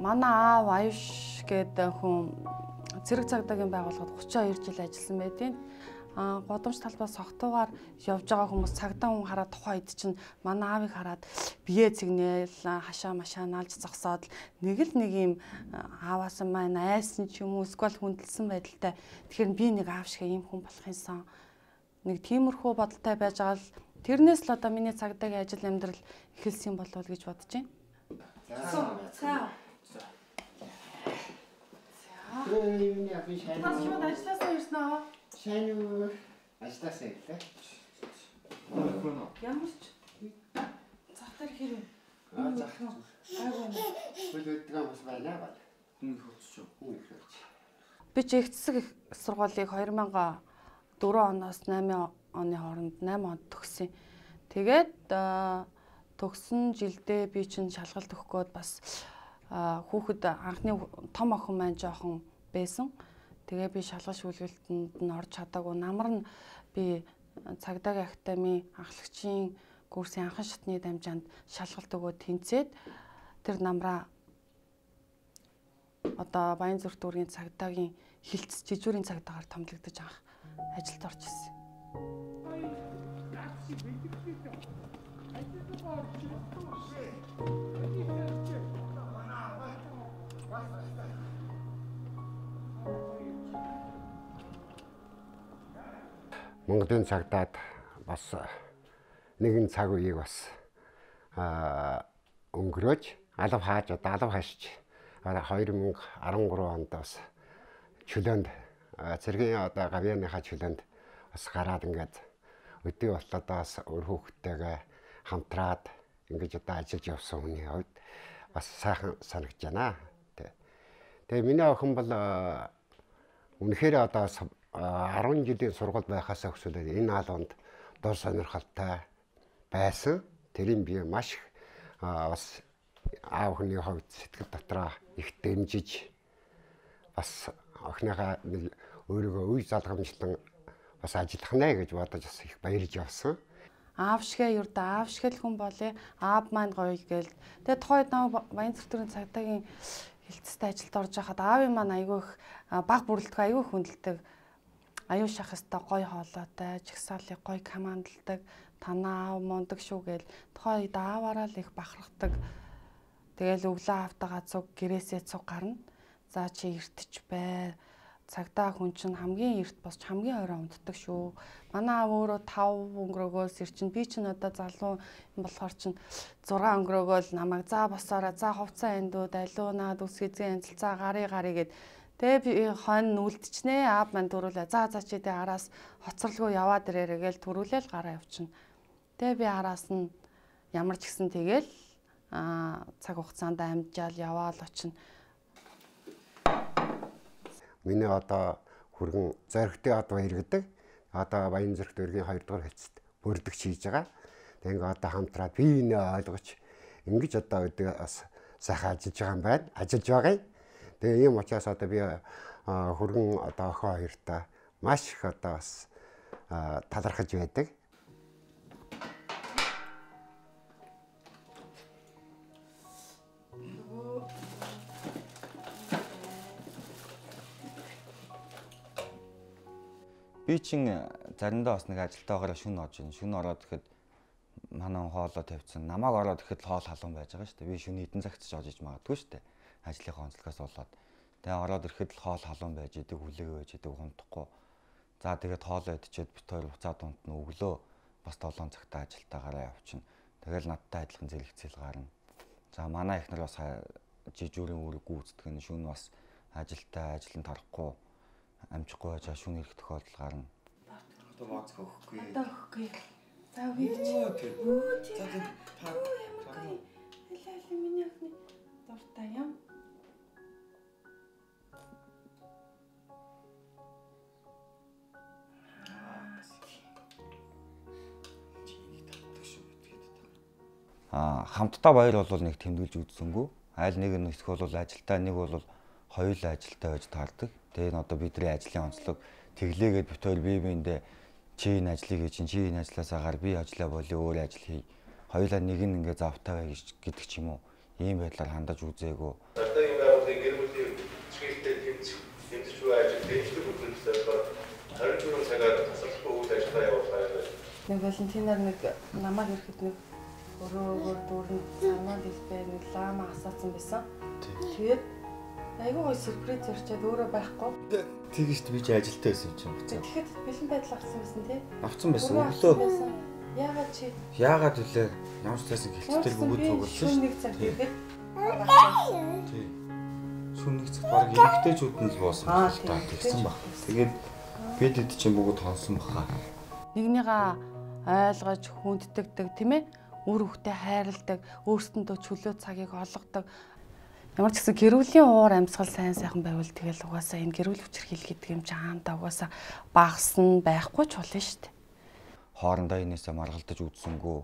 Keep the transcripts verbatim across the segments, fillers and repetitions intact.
Манай аав Аюш гэдэг хүн зэрэг цагдаагийн байгууллагад гучин хоёр жил ажилласан байдیں۔ А годамж талбаас согтуугаар явж байгаа хүмүүс цагдаа хүн хараад тухайн үед чинь манай аавыг хараад бие цэгнээл хашаа машаа наалж зогсоод нэг л нэг юм ааваас маань айсан ч юм уу эсвэл хүндэлсэн байдалтай. Тэгэхээр би нэг аав шиг ийм хүн болох юмсан. Нэг тиймэрхүү бодолтой байж байгаа л тэрнээс л одоо миний цагдаагийн ажил амьдрал эхэлсэн болов гэж бодож байна. За. Өөний ахын шайны. Бас шууд ажилласаа ирсэн аа. Шайны ажилласаа ирлээ. Ямар ч захтар хэрэг. Аа зах. Айгуу. Бүлэдгэн бас байна ба. Хүн их хөцч. Хүн их хөцч. Би ч их цэцэг сургуулийг хоёр мянган дөрвөн оноос найман оны хооронд найман онд төгссөн. Тэгээд төгсөн жилдээ би чинь шалгалт өгөх гээд бас хүүхэд анхны том охин маань жоохон байсан. Тэгээ би шалгалт шүүлгэлтэнд нь орж чадаагүй. Намар нь би цагдаагийн академи ахлагчийн курсын анхан шатны дамжаанд шалгалт өгөөд тэнцээд тэр намраа одоо Баянзүрх дүүргийн цагдаагийн хилцс жижүүрийн цагдаагаар томилогдож авах ажилд орж ирсэн. Монголын цагдаад бас нэгэн цаг үеийг бас өнгөрөөж алав хааж одоо алав хашиж хоёр мянга арван гурван онд бас чөлөөнд цэргийн одоо гавьяаныхаа чөлөөнд бас гараад ингээд өдөө болоод бас өөр хүүхдтэйгээ хамтраад ингэж одоо ажиллаж явсан хүний хувьд бас сайхан санагдж байна. Тэгээ миний охин бол үнэхээр одоо арван жилийн сургууль байхаас өксөлөө энэ албанд дор сонирхолтой байсан. Тэрийг би маш их бас аав охины хувьд сэтгэл дотроо их дэмжиж бас охиныхаа өөрийгөө үе залгамжлан бас ажиллах нэ гэж бодож бас их баярлж явсан. Аав шигээ юрд аав шиг л хүн болъё. Аав маань гоё гээл. Тэгээ тухайд намайг Баянзүрх дүүргийн цагдаагийн хилцэстэй ажилд орж байхад аавын маань айгүй их баг бүрэлдэхүүн айгүй хүндэлдэг. Аюу шах хэвээр гоё хоолойтой, жигсаалыг гоё командалдаг, танаа аав мундаг шүү гээл. Тухайн үед ааваараа л их бахархдаг. Тэгэл өглөө автагаа цуг гэрээсээ цуг гарна. За чи эртч бай. Цагдаа хүн чинь хамгийн эрт босч хамгийн орой унтдаг шүү. Манай аав өөрөө тав өнгөрөөгөөс ирчин би чинь одоо залуу болохоор чинь зургаан өнгөрөөгөө л намайг за босоороо за хувцас эндүүд алуунаад үсгэзэн анцалцаа гарыг гарыг гэд тэгээ би хонь нүлдчихнэ аав мань төрүүлээ за за чи тэ араас хоцорлогоо яваад ирээрэй гээл төрүүлээл гараа явчихна. Тэгээ би араас нь ямар ч гисэн тэгэл аа цаг хугацаанд амжаал яваал очино. Миний одоо хүргэн зоригтой одоо иргэдэг. Одоо Баянзүрх дүүргийн хоёр дахь хэлцэд бүрдэгч хийж байгаа. Тэгээ ингээ одоо хамтраад бие биенээ ойлгож ингэж одоо өдөө бас сайхан ажиллаж байгаа юм байна. Ажиллаж байгаа. Тэгээ ийм учраас одоо би хүргэн одоо охин хоёртаа маш их одоо бас талархаж байдаг. Би чинь заримдаа бас нэг ажилтаагаар шүн орж ийн. Шүн ороод ихэд манай хоолоо тавьчихсан. Намааг ороод ихэд хоол халуун байж байгаа шүү дээ. Би шүн хэдэн цагт ч орж иж магадгүй шүү дээ. Ажлынхаа онцлогоос болоод. Тэгээ ороод ирэхэд л хоол халуун байж идэг, хүлээгээ байж идэг, хунтахгүй. За тэгээд хоолоо идчихэд бит хоёр буцаад унтна. Өглөө бас долоон цагтаа ажилтаагаараа явчихна. Тэгэл надтай адилхан зэрэгцэл гарна. За манай ихнэр бас жижүүрийн үүрэг гүйцэтгэх нь шүн бас ажилтаа ажил нь тарахгүй амжихгүй байж шүн ирэх тохиолдол гарна. Одоо бооц өгөхгүй. Одоо өгөхгүй. За үгүй. За за та ямар хэлээ миний охины дуртай юм. Аа хамтдаа баяр бол нэг тэмдэглэж үзсэнгүй. Айл нэг нь их бол ажилтаа, нэг бол хоёулаа ажилтаа байж таардаг. Тэгээ энэ одоо бидний ажлын онцлог тэглээгээд бит хоёр бие биендээ чи энэ ажлыг хийж, чи энэ ажлаасаа гар, би ажиллаа болё, өөр ажил хий. Хоёулаа нэг нь ингээ завтай бай гэдэг ч юм уу. Ийм байдлаар хандаж үзээгөө. Цагдаагийн байгууллагын гэр бүлийн чиглэлтэй тэмцэх тэмцэж буй ажил дэвшлэг бүхэлдээ харин түрүүн цагаар тасалбаргүй үйл ажиллагаа явуулсан юм байна. Нэг Валентинаар нэг намайг ирэхэд нэг өрөө өөр дүүрэн санаад илбээ нэг лама асаацсан байсан. Тэгээд айгүй гой сюрприз өрчөөд өөрөө байхгүй. Тэгэж би ч ажилтаа байсан юм чинь буцаа. Тэгэхэд бэлэн байдал авсан байсан тий. Авцсан байсан. Өглөө. Яагаад чи? Яагаад вүлээ? Ямар ч тайсан гэлттэй бөгөөд цугулсан шүү. Шүн нэг цаг ирэхэд. Тий. Шүн нэг цаг баг эргэжтэйчүүд нь л боосон байна л та тэгсэн баг. Тэгээд бид хэд чинь бүгд хонсон баха. Нэгнийгээ ойлгож хүнддэгдэг тийм ээ? Үр хөвгтөд хайрладаг, өөрсөндөө чөлөө цагийг олгодог. Ямар ч гэсэн гэр бүлийн уур амьсгал сайн сайхан байвал тэгэл угаасаа энэ гэр бүл хүчирхийл гэдэг юм чи хаандаа угаасаа багасна байхгүй ч болно шүү дээ. Хоорондоо энээсээ маргалдаж үзсэнгүү.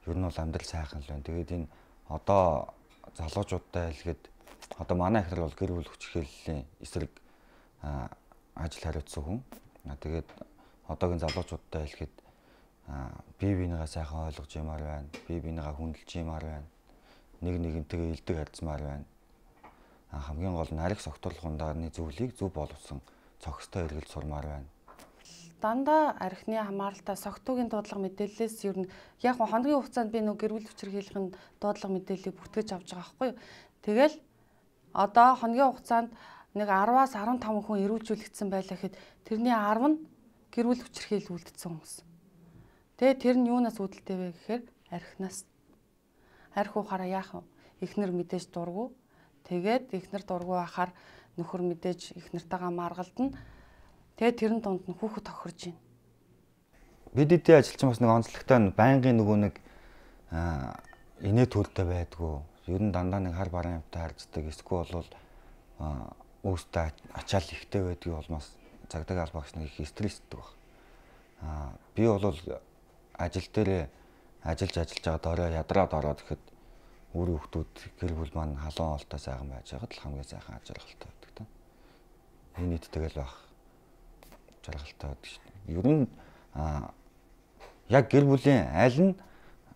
Ер нь бол амьдрал сайхан л байна. Тэгээд энэ одоо залуучуудтай хэлгээд одоо манай ихэр бол гэр бүл хүчирхийллийн эсрэг ажил хариуцсан хүн. Тэгээд одоогийн залуучуудтай хэлэхэд бие бинийгаа сайхан ойлгож юмар байна. Бие бинийгаа хүндэлж юмар байна. Нэг нэгнтэйгээ илдэг харьцмаар байна. Хамгийн гол нь арх согтурлах ундааны зүйлийг зөв боловсон цогцтой эргэлж сурмаар байна. Дандаа архины хамааралтай согтуугийн дуудлага мэдээллээс ер нь яг хоногийн хугацаанд би нэг гэр бүл хүчирхийллийн дуудлага мэдээллийг бүртгэж авч байгаа байхгүй юу. Тэгэл одоо хоногийн хугацаанд нэг араваас арван таван хүн эрүүлжүүлэгдсэн байлаа гэхэд тэрний арав нь гэр бүл хүчирхийлэл үлдсэн хүмүүс. Тэгээ тэр нь юунаас үүдэлтэй вэ гэхээр архинаас. Арх ухаараа яах вэ? Эхнэр мэдээж дургу. Тэгээд эхнэр дургу байхаар нөхөр мэдээж эхнэртэйгээ маргалдана. Тэгээд тэрэн дунд нь хүүхэд тохирж байна. Бид эдийн ажилчин бас нэг онцлогтой нь байнгын нөгөө нэг инээ төлтэй байдгүй. Ер нь дандаа нэг хар баран юмтай харьцдаг. Эсвэл бол өөртөө ачаал ихтэй байдгийг болмоос цагдаагийн албаагч нэг их стресстэй баг. Аа би бол ажил дээр ажиллаж ажиллаж байгаа дорой ядраад ороод ихэд үр хүүхдүүд гэр бүл маань халуун олтой сайхан байж байгаад л хамгийн сайхан ажиргалтай байдаг та. Энэ нийтдээ л баг жаргалтай байдаг шүү дээ. Ер нь аа яг гэр бүлийн аль нь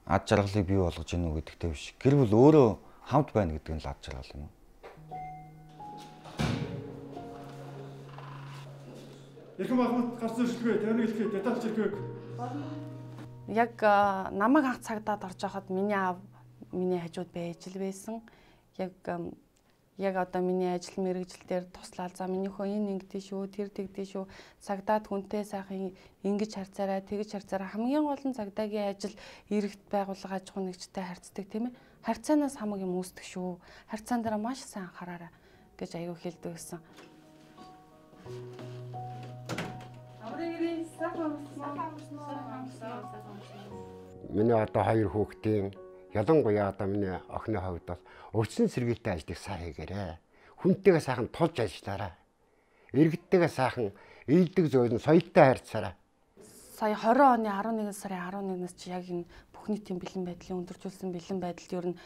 ад жаргалыг бий болгож ийнү гэдэгтэй биш. Гэр бүл өөрөө хамт байна гэдэг нь л ад жаргал юм. Ирхэн Махмуд гарсан шилгээ, тавны хэлхээ, деталь чиргээг. Яг намайг анх цагдаад орж байхад миний аав миний хажууд байж л байсан. Яг яг одоо миний ажил мэргэжил дээр туслаад за минийхөө энэ ингэдэж шүү, тэр тэгдэж шүү. Цагдаад хүнтэй сайхан ингэж харьцаарай, тэгж харьцаарай. Хамгийн гол нь цагдаагийн ажил иргэд байгууллага аж ахуй нэгжтэй харьцдаг тийм ээ. Харьцаанаас хамаг юм үүсдэг шүү. Харьцаан дээр маш сайн анхаараарай гэж аягүй хэлдэг гэсэн. Миний одоо хоёр хүүхдийн ялангуяа одоо миний охины хувьд бол урьдчилан сэргийлтэй ажлыг сайн хийгээрэй. Хүнтэйгээ сайхан тулж ажиллаарай. Иргэдтэйгээ сайхан ийдэг зөөлөн соёлтой харьцаарай. Сая хорин оны арван нэгэн сарын арван нэгнээс чи яг энэ бүх нийтийн бэлэн байдлын өндөржүүлсэн бэлэн байдалд ер нь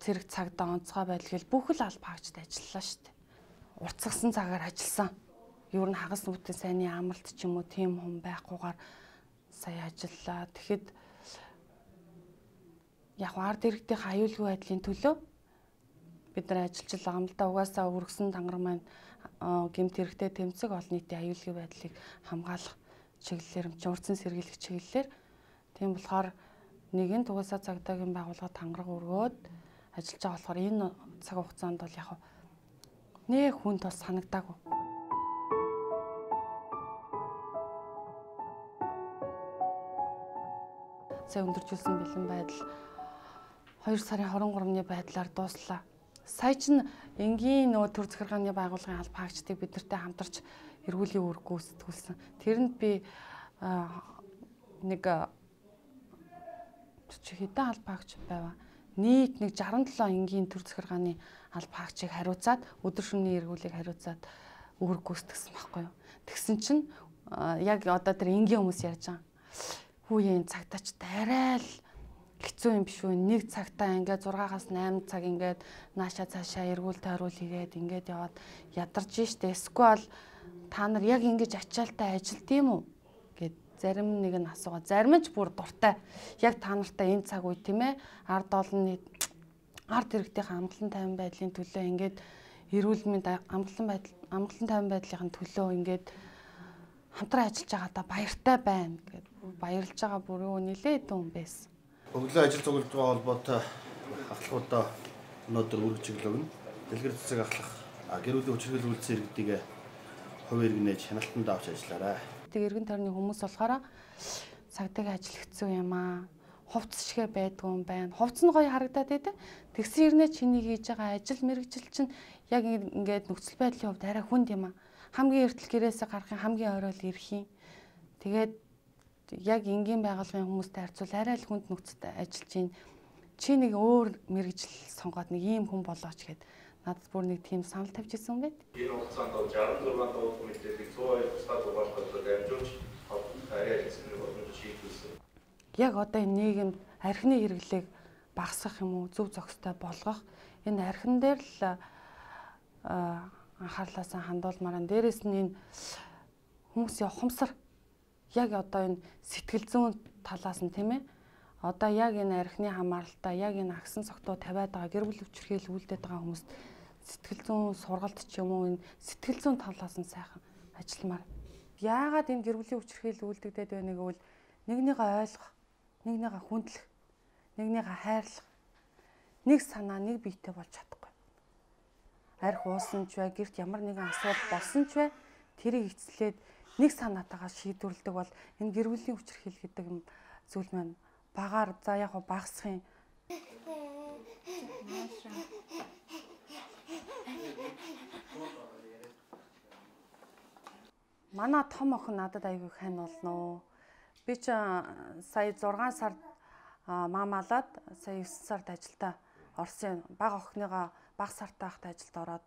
цэрэг цагдаа онцгой байдал гэл бүх л алба хаагчд ажиллалаа шүү дээ. Уртсгсан цагаар ажилласан. Ер нь хагас нүдэн сайнны амралт ч юм уу тийм хүн байхгүйгээр сая ажиллаа. Тэгэхэд яг ард иргэдийн аюулгүй байдлын төлөө бид нар ажиллаж байгаа юм л да. Угаасаа өргөсөн тангар маань гэмт хэрэгтэй тэмцэг олон нийтийн аюулгүй байдлыг хамгаалах чиглэлээр юм чи урдсан сэргийлэх чиглэлээр тийм болохоор нэгэн тугасаа цагдаагийн байгууллага тангараг өргөөд ажиллаж байгаа болохоор энэ цаг хугацаанд бол яг нээ хүнд бас санагдаагүй. Сая өндөржүүлсэн бэлэн байдал хоёр сарын хорин гуравны байдлаар дууслаа. Сая чинь энгийн нөгөө төр захиргааны байгууллагын алба хаагчдыг бид нартай хамтарч эргүүлийн үүрэг гүйцэтгүүлсэн. Тэрэнд би нэг хэдэн алба хаагч байваа. Нийт нэг жаран долоо энгийн төр захиргааны алба хаагчийг хариуцаад өдөр шөнөний эргүүлийг хариуцаад үүрэг гүйцэтгсэн байхгүй юу. Тэгсэн чинь яг одоо тэр энгийн хүмүүс ярьж байгаа. Хүүе энэ цагтаач арай л хэцүү юм биш үү? Нэг цагтаа ингээд зургаагаас найман цаг ингээд наашаа цаашаа эргүүл тойрвол хийгээд ингээд яваад ядарч штэ. Эсвэл та нар яг ингэж ачаалтай ажилт юм уу гэд зарим нэг нь асуугаа. Зарим нь ч бүр дуртай. Яг та нартай энэ цаг үе тийм ээ ард олонны ард иргэдийн амгалан тайван байдлын төлөө ингээд эрүүл мэнд амгалан байдал амгалан тайван байдлын төлөө ингээд хамтран ажиллаж байгаадаа баяртай байна гэд баярлж байгаа бүр юу нилээд хүн байсан. Өглөө ажил цуглаж байгаа холбоотой ахлахуудаа өнөөдөр үргэлжлэл өгнө. Дэлгэр цэцэг ахлах гэр бүлийн хүчирхэл үйлдэл иргэдийг хувь иргэнэж хяналтанд авч ажиллаарай. Тэг эргэн тойрны хүмүүс болохоор цагтаг ажил хэцүү юм аа. Хувцс шигэ байдгүй юм байна. Хувцс нь гоё харагдаад байдаг. Тэгсэн хэрнээ чиний хийж байгаа ажил мэргэжил чинь яг ингээд нөхцөл байдлын хувьд арай хүнд юм аа. Хамгийн эртэл гэрээсээ гарахын хамгийн оройл ирэх юм. Тэгээд яг энгийн байгууллагын хүмүүстэй харьцуул арай л хүнд нөхцөлд ажиллаж байна. Чи нэг өөр мэргэжил сонгоод нэг ийм хүн болооч гэд надад бүр нэг тийм санал тавьж ирсэн юм байна. Энэ хугацаанд шестьдесят зургаан дуулах мэдлэлийг сто хоёр тусгай дугаарлахад дамжуулж арай хэлсэн боломж шийдвэрсэн. Яг одоо энэ нийгэмд архины хэрэглээг багасгах юм уу, зөв зохистой болгох энэ архин дээр л анхаарлаасаа хандуулмаар нь. Дээрээс нь энэ хүмүүсийн ухамсар яг одоо энэ сэтгэл зүйн талаас нь тийм ээ. Одоо яг энэ архины хамааралтай, яг энэ агсан цогтуу тавиад байгаа гэр бүл хүчирхийлэл үйлдээд байгаа хүмүүст сэтгэл зүйн сургалт ч юм уу энэ сэтгэл зүйн талаас нь сайхан ажилламаар. Яагаад энэ гэр бүлийн хүчирхийлэл үйлдэгдээд байгааг бол нэгнийгээ ойлгох, нэгнийгээ хүндлэх, нэгнийгээ хайрлах, нэг санаа, нэг биетэй болж чадахгүй. Арх уусан ч бай, гэрт ямар нэгэн асуудал болсон ч бай, тэрийг эцэлээд нэг санаатайгаа шийдвэрлэдэг бол энэ гэр бүлийн хүчирхийлэл гэдэг зүйл маань багаар за яг багасхын. Манай том охин надад айгүй хань болно. Би ч сая зургаан сард маамаалаад сая есөн сард ажилдаа орсон. Бага охиныгаа бага сартаа хахад ажилд ороод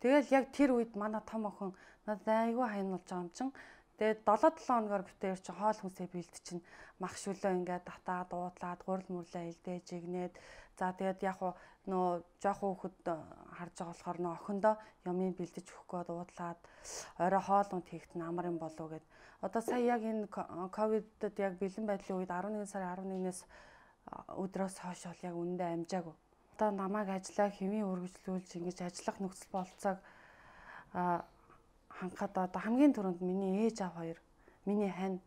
тэгэл яг тэр үед манай том охин надад айгүй хань болж байгаа юм чин. Тэгээд долоо долоо хоногор битээр чи хоол хүнсээ бэлд чинь мах шүлөө ингээд татаад дуудлаад гурил мөрлөө илдээж игнээд за тэгээд яг нөө жоохон хөхөд харж байгаа болохоор нөө охиндоо юмыг бэлдэж өгөх гээд дуудлаад орой хоол унд хийхтэн амар юм болов гэд. Одоо сая яг энэ ковидд яг бэлэн байдлын үед арван нэгэн сарын арван нэгнээс өдрөөс хойш бол яг үнэндээ амжаагүй. Одоо намайг ажиллаа хэвийн үргэлжлүүлж ингэж ажиллах нөхцөл болцоог хангахад одоо хамгийн түрүүнд миний ээж аав хоёр, миний хань,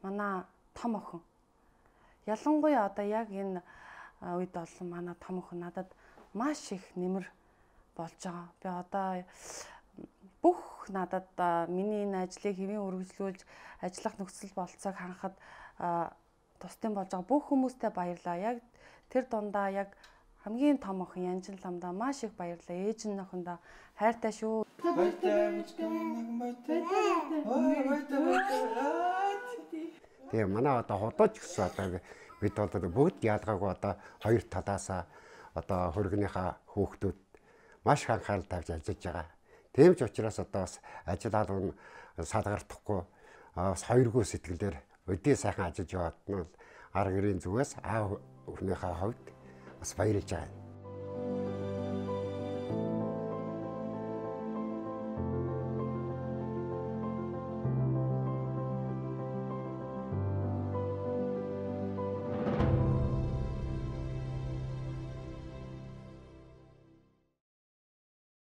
манай том охин. Ялангуяа одоо яг энэ үед болсон манай том охин надад маш их нэмэр болж байгаа. Би одоо бүх надад миний энэ ажлыг хэвийн үргэлжлүүлж ажиллах нөхцөл болцоог хангахад тусдын болж байгаа бүх хүмүүстээ баярлаа. Яг тэр дундаа яг хамгийн том охин Янжин ламдаа маш их баярлаа. Ээж нь охиндоо хайртай шүү. Тэгээ манай одоо худалч гэсэн одоо бид бол бүгд ялгаагүй одоо хоёр талаасаа одоо хөргөнийхөө хүүхдүүд маш их анхаарал тавьж ажиллаж байгаа. Тийм ч учраас одоо бас ажил албан салгартахгүй бас хоёргүй сэтгэлээр өдөө сайхан ажиллаж яваад нь арга гэрийн зүгээс аав өхнийхөө хувьд бас баярлж байгаа.